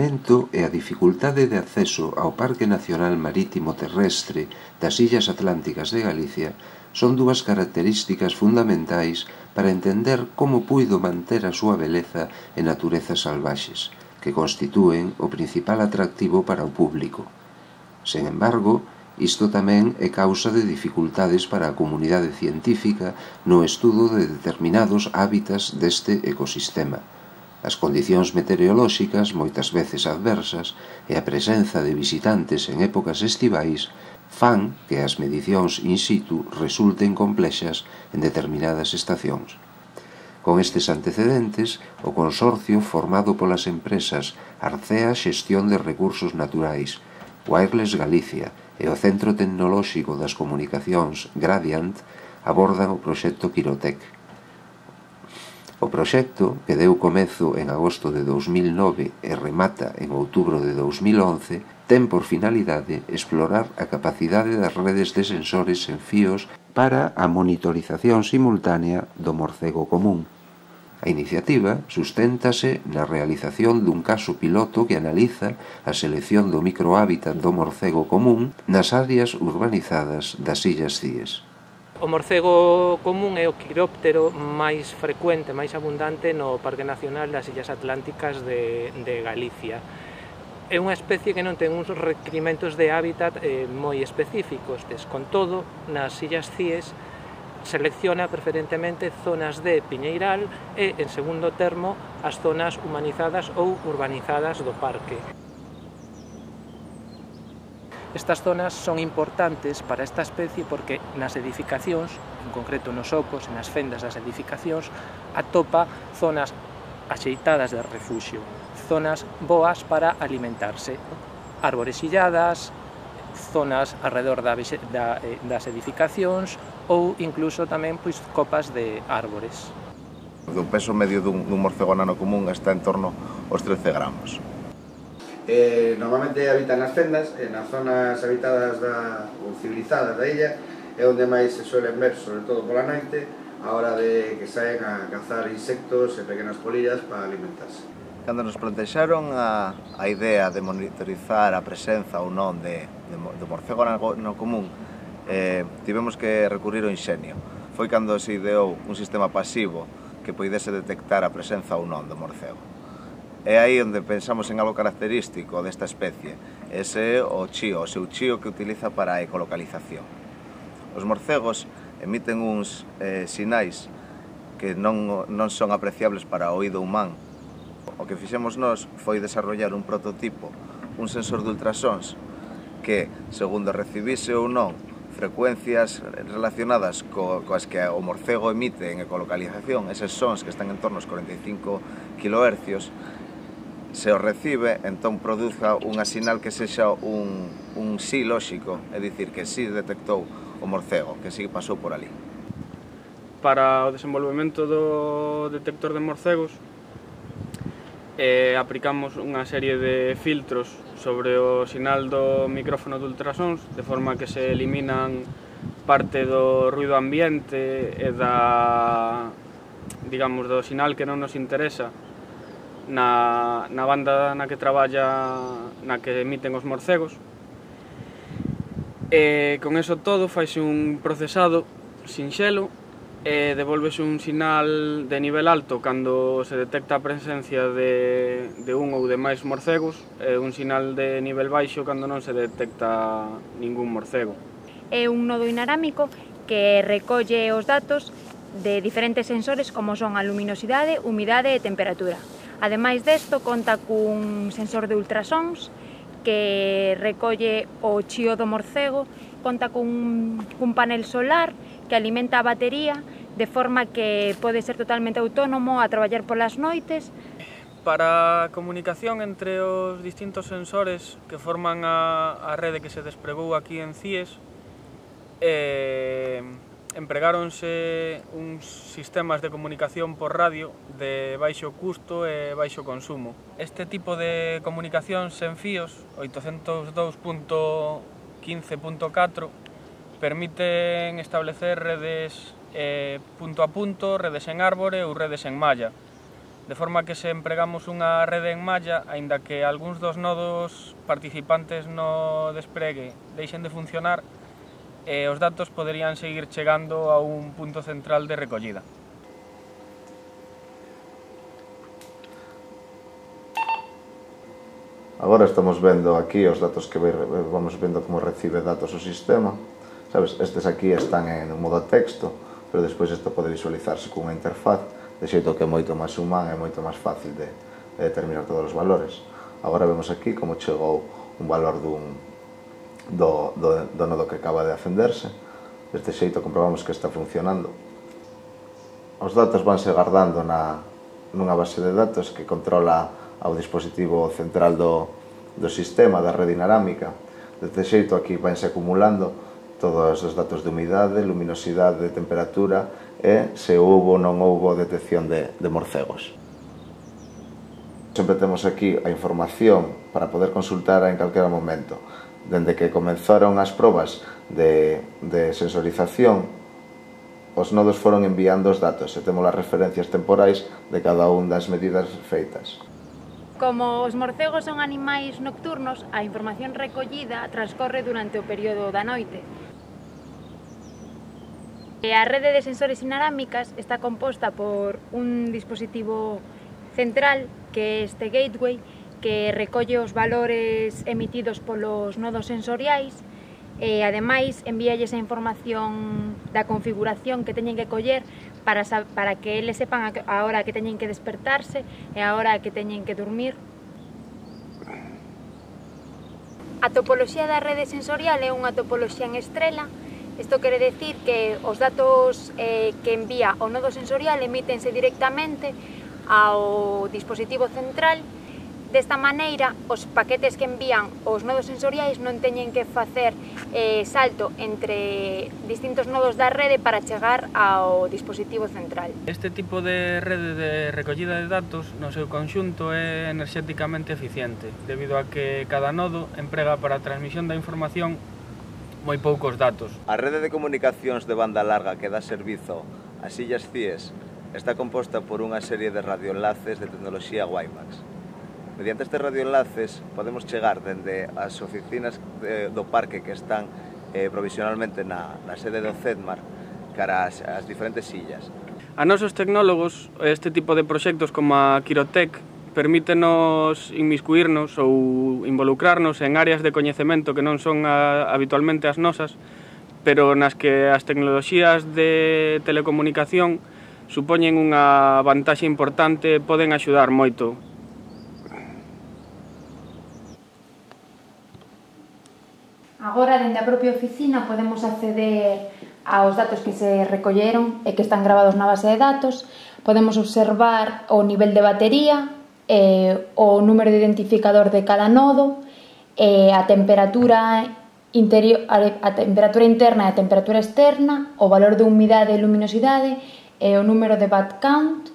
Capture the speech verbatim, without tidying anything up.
isolamento e a dificultade de acceso ao Parque Nacional Marítimo Terrestre das Illas Atlánticas de Galicia son dúas características fundamentais para entender como puido manter a súa beleza e naturezas salvaxes, que constitúen o principal atractivo para o público. Sen embargo, isto tamén é causa de dificultades para a comunidade científica no estudo de determinados hábitats deste ecosistema. As condicións meteorolóxicas, moitas veces adversas, e a presenza de visitantes en épocas estivais fan que as medicións in situ resulten complexas en determinadas estacións. Con estes antecedentes, o consorcio formado polas empresas Arcea Xestión de Recursos Naturais, Wireless Galicia e o Centro Tecnolóxico das Comunicacións Gradiant abordan o proxecto Quirotec. O proxecto, que deu comezo en agosto de dous mil nove e remata en outubro de dous mil once, ten por finalidade explorar a capacidade das redes de sensores en fíos para a monitorización simultánea do morcego común. A iniciativa susténtase na realización dun caso piloto que analiza a selección do microhábitat do morcego común nas áreas urbanizadas das Illas Cíes. O morcego común é o quiróptero máis frecuente, máis abundante no Parque Nacional das Illas Atlánticas de, de Galicia. É unha especie que non ten uns requirimentos de hábitat eh, moi específicos, des, con todo, nas Illas Cíes selecciona preferentemente zonas de piñeiral e, en segundo termo, as zonas humanizadas ou urbanizadas do parque. Estas zonas son importantes para esta especie porque nas edificacións, en concreto nos ocos e nas fendas das edificacións, atopa zonas axeitadas de refuxio, zonas boas para alimentarse, árbores illadas, zonas alrededor da, da, das edificacións ou incluso tamén pois, copas de árbores. O peso medio dun, dun morcego nano común está en torno aos trece gramos. Eh, normalmente habitan nas fendas, e nas zonas habitadas da, ou civilizadas da illa, é onde máis se suelen ver, sobre todo pola noite, a hora de que saen a cazar insectos e pequenas polillas para alimentarse. Cando nos plantexaron a, a idea de monitorizar a presenza ou non de, de, de morcego no común, eh, tivemos que recurrir ao inxenio. Foi cando se ideou un sistema pasivo que poidese detectar a presenza ou non do morcego. É aí onde pensamos en algo característico desta especie, ese é o chío, o seu chío que utiliza para a ecolocalización. Os morcegos emiten uns eh, sinais que non, non son apreciables para o oído humán. O que fixemos nós foi desarrollar un prototipo, un sensor de ultrasons que, segundo recibise ou non frecuencias relacionadas co, coas que o morcego emite en ecolocalización, eses sons que están en torno aos cuarenta e cinco kilohercios, se o recibe, entón produza unha sinal que sexa un, un sí lóxico, é dicir, que sí detectou o morcego, que sí pasou por ali. Para o desenvolvemento do detector de morcegos, eh, aplicamos unha serie de filtros sobre o sinal do micrófono de ultrasons, de forma que se eliminan parte do ruido ambiente e da, digamos, do sinal que non nos interesa na, na banda na que traballa, na que emiten os morcegos. E con eso todo faise un procesado sinxelo e devolvese un sinal de nivel alto cando se detecta a presencia de, de un ou de máis morcegos e un sinal de nivel baixo cando non se detecta ningún morcego. É un nodo inalámbrico que recolle os datos de diferentes sensores como son a luminosidade, humidade e temperatura. Ademais desto, conta cun sensor de ultrasons que recolle o chío do morcego, conta cun, cun panel solar que alimenta a batería de forma que pode ser totalmente autónomo a traballar polas noites. Para a comunicación entre os distintos sensores que forman a, a rede que se despregou aquí en Cíes, eh, empregáronse uns sistemas de comunicación por radio de baixo custo e baixo consumo. Este tipo de comunicación sen fíos, oitocentos dous punto quince punto catro, permiten establecer redes eh, punto a punto, redes en árbore ou redes en malla. de forma que se empregamos unha rede en malla, aínda que algúns dos nodos participantes no despregue deixen de funcionar, e os datos poderían seguir chegando a un punto central de recollida. Agora estamos vendo aquí os datos que vamos vendo como recibe datos o sistema. Sabes, estes aquí están en modo texto, pero despois isto pode visualizarse cunha interfaz, de xeito que é moito máis humán e moito máis fácil de, de determinar todos os valores. Agora vemos aquí como chegou un valor dun, do, do, do nodo que acaba de acenderse. Deste xeito comprobamos que está funcionando. Os datos vanse guardando na, nunha base de datos que controla ao dispositivo central do, do sistema, da rede inalámica. Deste xeito aquí vanse acumulando todos os datos de humidade, luminosidade, temperatura e se houbo ou non houbo detección de, de morcegos. Sempre temos aquí a información para poder consultar en calquera momento. Dende que comenzaron as probas de, de sensorización, os nodos foron enviando os datos e temos as referencias temporais de cada un das medidas feitas. Como os morcegos son animais nocturnos, a información recollida transcorre durante o período da noite. A rede de sensores inalámicas está composta por un dispositivo central, que é este gateway, que recolle os valores emitidos polos nodos sensoriais e, ademais, envíalles a información da configuración que teñen que coller para, para que eles sepan a hora que teñen que despertarse e a hora que teñen que dormir. A topoloxía da rede sensorial é unha topoloxía en estrela. Isto quere decir que os datos eh, que envía o nodo sensorial emítense directamente ao dispositivo central. Desta maneira, os paquetes que envían os nodos sensoriais non teñen que facer eh, salto entre distintos nodos da rede para chegar ao dispositivo central. Este tipo de rede de recollida de datos no seu conxunto é enerxéticamente eficiente, debido a que cada nodo emprega para a transmisión da información moi poucos datos. A rede de comunicacións de banda larga que dá servizo ás illas Cíes está composta por unha serie de radioenlaces de tecnoloxía WiMAX. Mediante estes radioenlaces podemos chegar dende as oficinas de, do parque que están eh, provisionalmente na, na sede do CEDMAR cara ás, ás diferentes illas. A nosos tecnólogos, este tipo de proxectos como a Quirotec permítenos inmiscuirnos ou involucrarnos en áreas de coñecemento que non son a, habitualmente as nosas, pero nas que as tecnoloxías de telecomunicación supoñen unha vantaxe importante e poden axudar moito. Agora, dende a propia oficina, podemos acceder aos datos que se recolleron e que están gravados na base de datos. Podemos observar o nivel de batería, eh, o número de identificador de cada nodo, eh, a temperatura interior, a temperatura interna e a temperatura externa, o valor de humidade e luminosidade, e o número de bat count,